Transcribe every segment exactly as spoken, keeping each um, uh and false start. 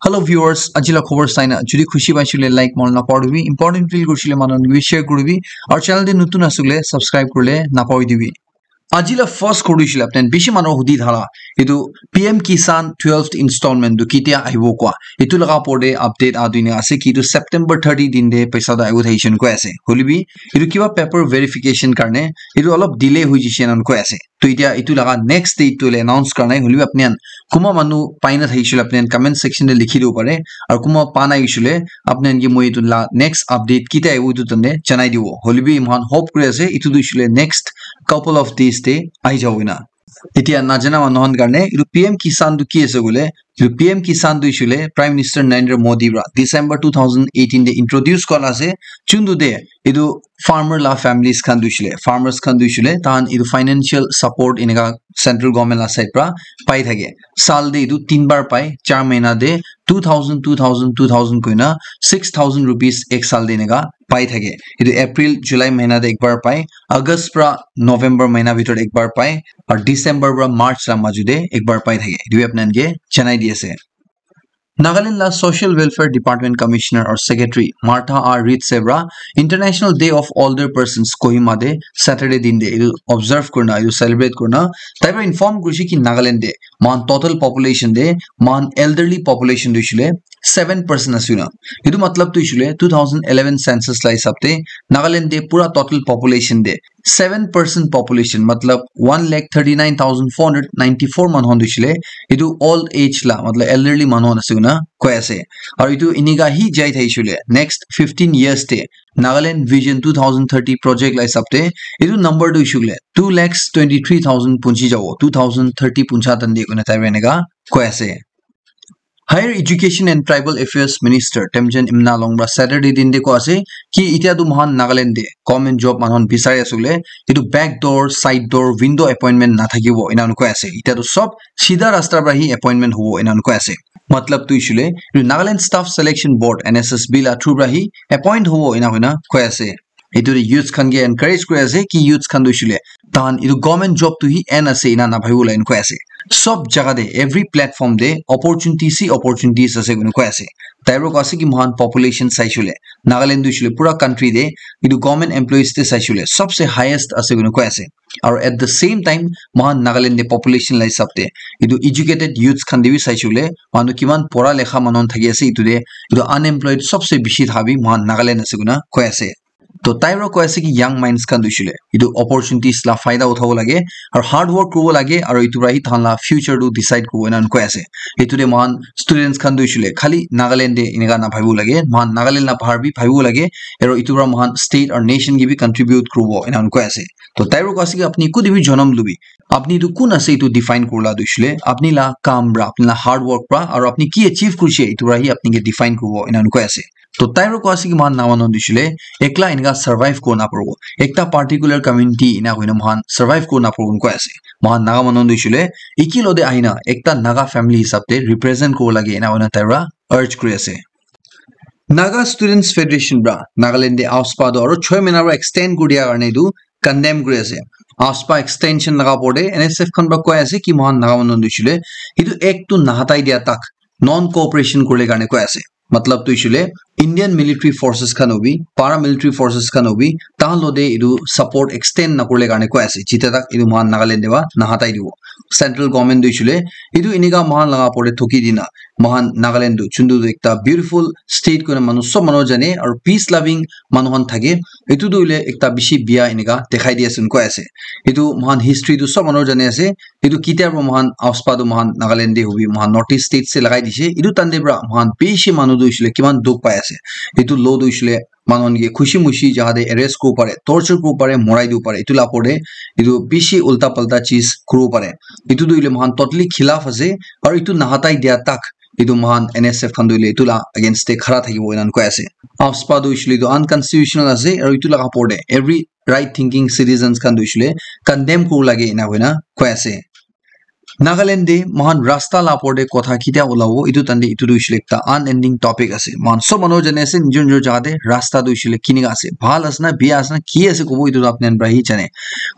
Hello viewers, aji la khobor saina jodi khushi paisile like manu napahoribi, important feel kurisile manu khan ke share kuribi, aru channel te notun asile subscribe kurile napahoribi. Aji la first khobor tu hoisile apni khan bishi manu hudi thala, etu P M Kisan twelfth installment tu ketia ahibo koa, etu laga opor te update aa dina ase ki etu September thirty din te paisa tu ahibo thakishe koi ase. Hoilebi etu kiba paper verification karne etu olop delay hoi jishe enan koi ase. To etia etu laga next date tu hoile announce kora nai, hoilebi apni khan kunba manu pai na thakishe koile apni khan comment section te likhi dibo pare, aru kunba pa nai hoishe koile apni khan ke moi etu la next update ketia ahibo etu tande janai dibo. Hoilebi moikhan hope kuri ase etu tu hoishe koile next couple of days te ahi jabo ena. Etia najana manu khan karne etu P M Kisan tu ki ase koile, etu P M Kisan tu hoishe koile Prime Minister Narendra Modi para December two thousand eighteen te introduce kora ase, chuntu te etu farmer la families khan tu hoishe koile, farmers khan tu hoishe koile tahan etu financial support eneka central government la side para pai thake. Sal te etu tin bar pai, char mahina te two thousand, two thousand, two thousand koina six thousand rupees ek sal te eneka pai thake. Etu April, July mahina te ek bar pai, August pra November mahina bhitor ek bar pai, aru December pra March la maju te ek bar pai thake. Etu bi apni khan ke janai di ase. Nagaland la Social Welfare Department Commissioner or Secretary Martha R Reed Sebra International Day of Older Persons Kohima te Saturday din te etu observe kurina, etu celebrate kurina, tai pra inform kurishe ki Nagaland te moikhan total population te moikhan elderly population tu hoishe koile seven percent ase koina. Etu matlab tu hoishe koile two thousand eleven census la hisab te Nagaland te pura total population te seven percent population, matlab one lakh thirty nine thousand four hundred ninety four manu khan tu hoishe koile etu old age la, matlab elderly manu khan ase koina koi ase. Aru etu enika hi jai thakishe koile next fifteen years te Nagaland Vision two thousand thirty project la hisab te etu number tu hoishe koile two lakhs twenty three thousand punchi jabo, two thousand thirty puncha tande koina tai pra enika koi ase. Higher Education and Tribal Affairs Minister Temjen Imna Longpra Saturday din te koi ase ki etia tu moikhan Nagaland te government job manu khan bisari ase koile etu back door, side door, window appointment nathakibo ena koi ase. Etia tu sob sidha rasta pra hi appointment hobo ena koi ase. Matlab tu hoishe koile etu Nagaland Staff Selection Board, N S S B la through pra hi appoint hobo ena koina koi ase. Etu te youths khan ke encourage kuri ase ki youths khan tu hoishe koile tahan etu government job tu hi end ase ena nabhabibo la ena koi ase. Sob jaga te, every platform te opportunities hi opportunities ase koina koi ase. Tai pra koi ase ki moikhan population saishe koile Nagaland tu hoishe koile pura country te etu government employees te saishe koile sobse highest ase koina koi ase. Aru at the same time moikhan Nagaland te population la hisab te etu educated youths khan te bi saishe koile manu kiman pora lekha manu khan thaki ase, etu te etu unemployed sobse bishi thaka bi moikhan Nagaland ase koina koi ase. To tai pra koi ase ki young minds khan tu hoishe koile etu opportunities la faida uthabo lage aru hard work kuribo lage aru etu pra hi tahan la future tu decide kuribo ena koi ase. Etu te moikhan students khan tu hoishe koile khali Nagaland te enika nabhabibo lage, moikhan Nagaland la bahar bi bhabibo lage aru etu pra moikhan state aru nation ke bi contribute kuribo ena koi ase. To tai pra koi ase ki apni kuti bi janam lubi, apni tu kun ase etu define kurila tu hoishe koile apni la kam pra, apni la hard work pra aru apni ki achieve kurishe etu pra hi apni ke define kuribo ena koi ase. To tai pra koi ase ki moikhan Naga manu tu hoishe koile ekla enika survive kuribo naparibo, ekta particular community ena koina moikhan survive kuribo naparibo koi ase. Moikhan Naga manu tu hoishe koile eki logote ahina ekta Naga family hisab te represent kuribo lage ena koina tai pra urge kuri ase. Naga Students Federation pra Nagaland te AFSPA tu aru choi mahina pra extend kuri dia karne etu condemn kuri ase. AFSPA extension laga opor te N S F khan pra koi ase ki moikhan Naga manu tu hoishe koile etu act tu nahatai dia tak non cooperation kurile karne koi ase. Matlab tu hoishe koile Indian military forces khan hobi, paramilitary forces khan hobi, tahan logote etu support extend nakurile karne koi ase. Jita tak etu moikhan Nagaland te pra nahatai dibo. Central government tu hoishe koile etu enika moikhan laga opor te thoki dina moikhan Nagaland tu chuntu tu ekta beautiful state koina manu sob manu jane aru peace loving manu khan thake. Etu tu hoile ekta bishi bia enika dekhai di ase koi ase. Etu moikhan history tu sob manu jane ase. Etu ketia pra moikhan AFSPA tu moikhan Nagaland te hobi, moikhan North East States te lagai dishe. Etu tande pra moikhan bishi manu tu hoishe koile kiman dukh pai ase. Etu law tu hoishe koile manu khan ke khushi mushi jaga te arrest kuribo pare, torture kuribo pare, morai dibo pare. Etu la opor te etu bishi ulta palta cheez kuribo pare. Etu tu hoile moikhan totally khilaf ase. Aru etu nahatai dia tak etu moikhan N S F khan tu hoile etu la against te khara thakibo ena koi ase. AFSPA tu hoishe koile etu unconstitutional ase. Aru etu laga opor te every right thinking citizens khan tu hoishe koile condemn kuribo lage ena koina koi ase. Nagaland te mohan rasta la opor te kotha kitia ulabo, etu tande etu tu hoishe le ekta unending topic ase. Mohan sob manu jane ase, nijor nijor jaga te rasta tu hoishe le kinika ase, bhal ase na, bia ase na, ki ase kobo, etu tu apni khan para hi jane.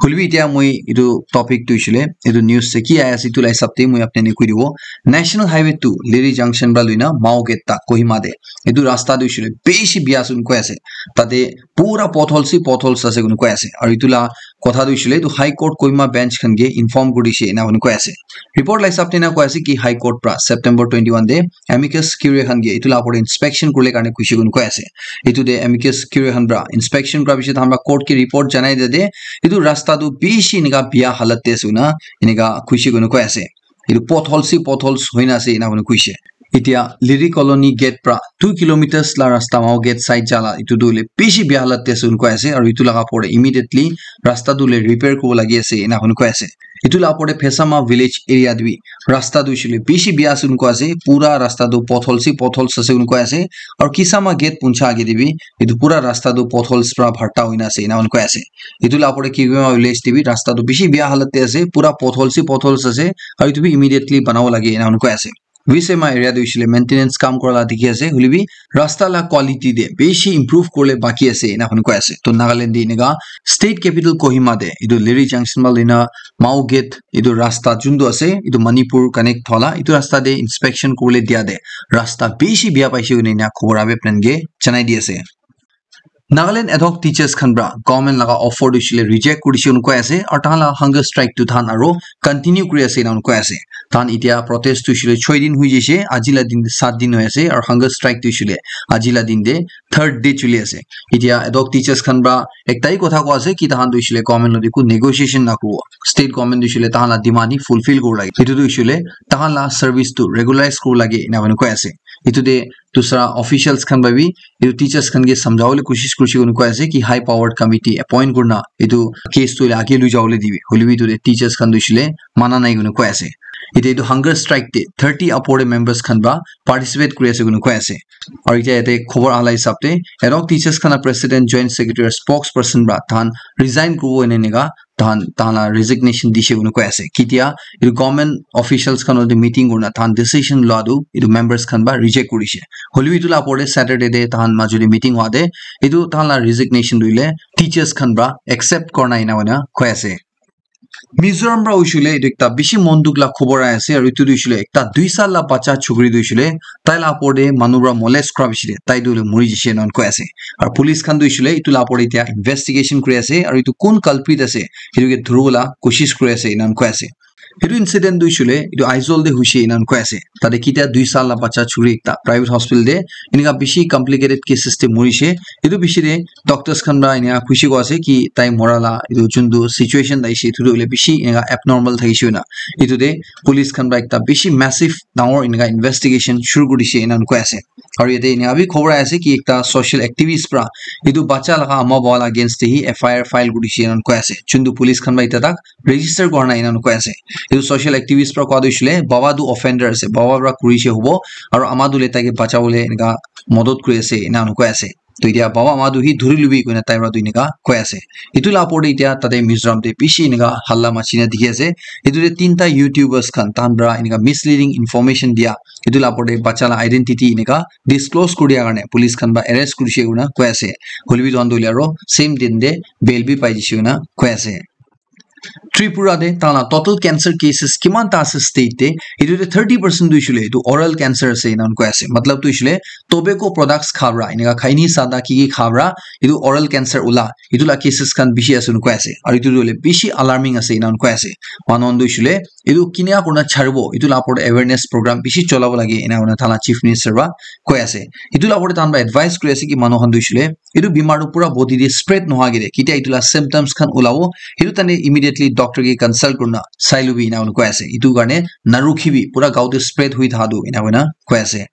Hoilebi etia moi etu topic tu hoishe le, etu news te ki ahi ase, etu la hisab te moi apni khan ke koi dibo. National Highway two, Liri Junction para loina Mao Gate tak Kohima te. Etu rasta tu hoishe le bishi bia ase koi ase. Tate pura potholes hi potholes ase koi ase. Aru etu la kotha tu hoishe le etu High Court Kohima bench khan ke inform kuri dishe ena koi koi ase. Report la hisab te ena koi ase ki High Court pra September twenty-one te amicus curiae khan ke etu la opor te inspection kurle karne kuishe koi koi ase. Etu te amicus curiae khan pra inspection kura piche tahan pra court ke report janai de de etu rasta tu bishi enika bia halat te ase koi na enika kuishe koi koi ase. Etu potholes hi potholes hoina ase ena koi kuishe. Etia Liri Colony gate pra two kilometers la rasta Mao Gate side jala etu tu hoile bishi bia halat te ase koi ase, aru etu laga opor te immediately rasta tu hoile repair kuribo lagi ase ena koi koi ase. Etu la opor te Phesama village area te bi rasta tu hoishe le bishi bia ase koi ase, pura rasta tu potholes hi potholes ase koi ase, aru Kisama gate puncha age te bi etu pura rasta tu potholes pra bharta hoina ase ena koi koi ase. Etu la opor te Kisama village te bi rasta tu bishi bia halat te ase, pura potholes hi potholes ase, aru etu bi immediately banabo lage ena koi koi ase. Visema area tu hoishe le maintenance kam kura la dikhi ase, hoilebi rasta la quality te bishi improve kurle baki ase ena koi koi ase. To Nagaland te enika state capital Kohima te etu Liri Junction pra loina Mao Gate etu rasta juntu ase, etu Manipur connect thola, etu rasta te inspection kurle dia te rasta bishi bia paishe koi kena khobor abi apni khan ke janai di ase. Nagaland ad hoc teachers khan pra government laga offer tu hoishe le reject kuri dishe koi ase, aru tahan la hunger strike tu tahan aru continue kuri ase ena koi ase. Tahan etia protest tu hoishe le choi din hoi jaise, aji la din te sat din hoi ase, aru hunger strike tu hoishe le aji la din te third day choli ase. Etia ad hoc teachers khan pra ekta hi kotha koi ase ki tahan tu hoishe le government loti ku negotiation na kuribo, state government tu hoishe le tahan la demand hi fulfill kuribo lage, etu tu hoishe le tahan la service tu regularize kuribo lage ena koi ase. Etu te dusra officials khan pra bi etu teachers khan ke samjhawole koshish kurishe koi koi ase ki high powered committee appoint kurina etu case tu hoile age lui jawole dibi, hoilebi etu te teachers khan tu hoishe le mana nai koi koi ase. Etia etu hunger strike te thirty upor te members khan pra participate kuri ase koi koi ase. Aru etia yate khobor aha la hisab te ad hoc teachers khan la president, joint secretary, spokesperson pra tahan resign kuribo ena enika tahan, tahan la resignation dishe koi koi ase. Ketia etu government officials khan loti meeting kurina tahan decision lua tu etu members khan pra reject kurishe. Hoilebi etu la opor te Saturday te tahan majo te meeting hua te etu tahan la resignation tu hoile teachers khan pra accept kurina ena koi ase. Mizoram pra hoishe le etu ekta bishi mon dukh la khobor ahi ase, aru etu tu hoishe le ekta dui sal la bacha chukri tu hoishe le tai la opor te manu pra molest kura piche te tai tu hoile muri jaise ena koi ase. Aru police khan tu hoishe le etu la opor te etia investigation kuri ase, aru etu kun culprit ase etu ke dhuribo la koshish kuri ase ena koi ase. Etu incident tu hoishe le etu Aizawl te hoishe ena koi ase. Tate ketia dui sal la bacha chukri ekta private hospital te enika bishi complicated cases te murishe. Etu piche te doctors khan pra enika kuishe koi ase ki tai mora la etu juntu situation ahishe etu tu hoile bishi enika abnormal thakishe koi na. Etu te police khan pra ekta bishi massive dangor enika investigation shuru kuri dishe ena koi ase. Aru yate enika bi khobor ahi ase ki ekta social activist pra etu bacha laga ama baba la against te hi F I R file kuri dishe ena koi ase. Juntu police khan pra eta tak register kura nai ena koi ase. Etu social activist pra koi tu hoishe le baba tu offender ase, baba pra kurishe hobo, aru ama tu le tai ke bachawole enika modot kuri ase ena koi ase. To etia baba ama tu hi dhuri lubi koi na tai pra tu enika koi ase. Etu la opor te etia tate Mizoram te bishi enika halla machi na dikhi ase. Etu te tinta YouTubers khan tahan pra enika misleading information dia, etu la opor te bacha la identity enika disclose kuri dia karne police khan pra arrest kurishe koi na koi ase. Hoilebi etu khan tu hoile aru same din te bail bi pai jaise koi na koi ase. Tripura te tahan la total cancer cases kiman ta ase state te, etu te thirty percent tu hoishe le etu oral cancer ase ena koi ase. Matlab tu hoishe le tobacco products kha pra, enika khaini sada ki ki kha pra etu oral cancer ula, etu la cases khan bishi ase ena koi ase. Aru etu tu hoile bishi alarming ase ena koi ase. Manu khan tu hoishe le etu kinika kurina charibo, etu la opor te awareness program bishi cholabo lage ena koi na tahan la chief minister pra koi ase. Etu la opor te tahan pra advice kuri ase ki manu khan tu hoishe le etu bimar tu pura body te spread nohoi kene, ketia etu la symptoms khan ulabo, etu tane immediately doctor ke consult kurina sai lobi ena koi ase. Etu karne narukhibi, pura gao te spread hui tha tu ena koi na koi ase.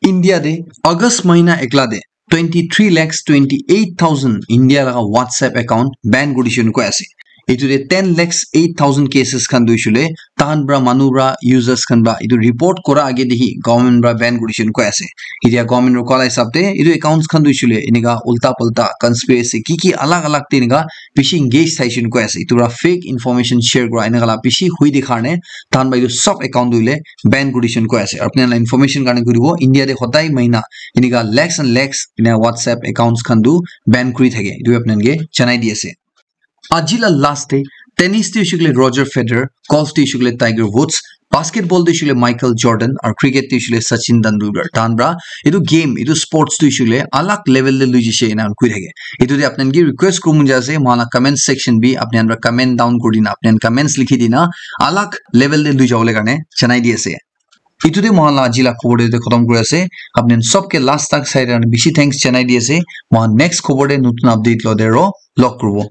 India te August mahina ekla te twenty three lakhs twenty eight thousand India laga WhatsApp account ban kuri dishe koi ase. Etu te ten lakhs eight thousand cases khan tu hoishe koile tahan pra manu pra users khan pra etu report kora age te hi government pra ban kuri dishon koi ase. Etia government pra koa la hisab te etu accounts khan tu hoishe koile enika ulta pulta conspiracy ki ki alag alag te enika bishi engage thaishe koi ase. Etu pra fake information share kora enika la bishi hui de karne tahan pra etu sob account tu hoile ban kuri dishon koi ase. Aru apni khan la information karne koi dibo, India te hodai mahina enika lakhs and lakhs ena WhatsApp accounts khan tu ban kuri thake. Etu apni khan ke janai di ase. Aji la last te tennis te hoishe koile Roger Federer, golf te hoishe koile Tiger Woods, basketball te hoishe koile Michael Jordan, aru cricket te hoishe koile Sachin Tendulkar. Tahan pra etu game, etu sports te hoishe koile alag level te lui jaise ena koi thake. Etu te apni khan ke request kuribo mon jai ase, moikhan la comment section bi apni khan pra comment down kuri dina, apni khan comments likhi dina, alag level te lui jabole karne janai di ase. Etu te moikhan la aji la khobor te khotom kuri ase. Apni khan sob ke last tak sai karne bishi thanks janai di ase. Moikhan next khobor te notun update lo de ro log kuribo.